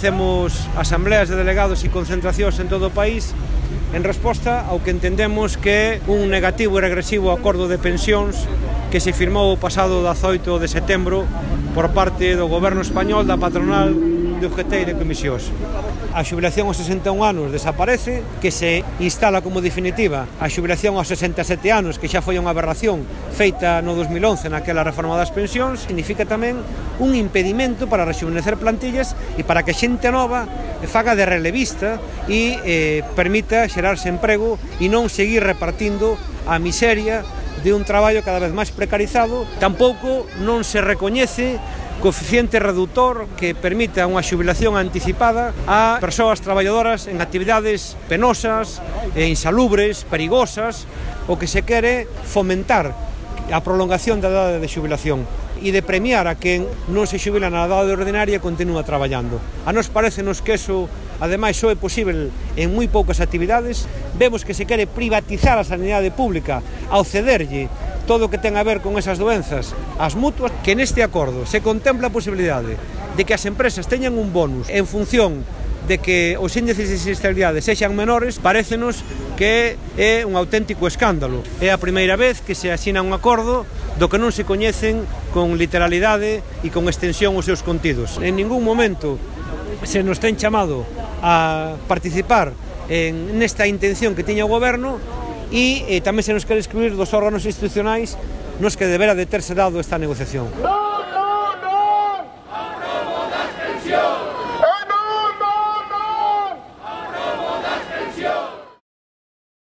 facemos asambleas de delegados e concentracións en todo o país en resposta ao que entendemos que é un negativo e regresivo acordo de pensións que se firmou o pasado 18 de setembro por parte do goberno español, da patronal, de UGT e de comisións. A xubilación aos 61 anos desaparece, que se instala como definitiva a xubilación aos 67 anos, que xa foi unha aberración feita no 2011 naquela reforma das pensións, significa tamén un impedimento para rexuvenecer plantillas e para que xente nova faga de relevista e permita xerarse emprego e non seguir repartindo a miseria de un traballo cada vez máis precarizado. Tampouco non se recoñece coeficiente reductor que permita unha xubilación anticipada a persoas traballadoras en actividades penosas, insalubres, perigosas. O que se quere fomentar a prolongación da idade de xubilación e de premiar a quen non se xubila na idade ordinaria e continúa traballando. A nos parecenos que eso, ademais, só é posible en moi poucas actividades. Vemos que se quere privatizar a sanidade pública ao cederlle todo o que ten a ver con esas doenzas as mutuas, que neste acordo se contempla a posibilidade de que as empresas teñan un bonus en función de que os índices de sinistralidade sexan menores. Parécenos que é un auténtico escándalo. É a primeira vez que se asina un acordo do que non se coñecen con literalidade e con extensión os seus contidos. En ningún momento se nos ten chamado a participar nesta intención que tiña o goberno e tamén se nos quere excluir dos órganos institucionais nos que debera de terse dado esta negociación.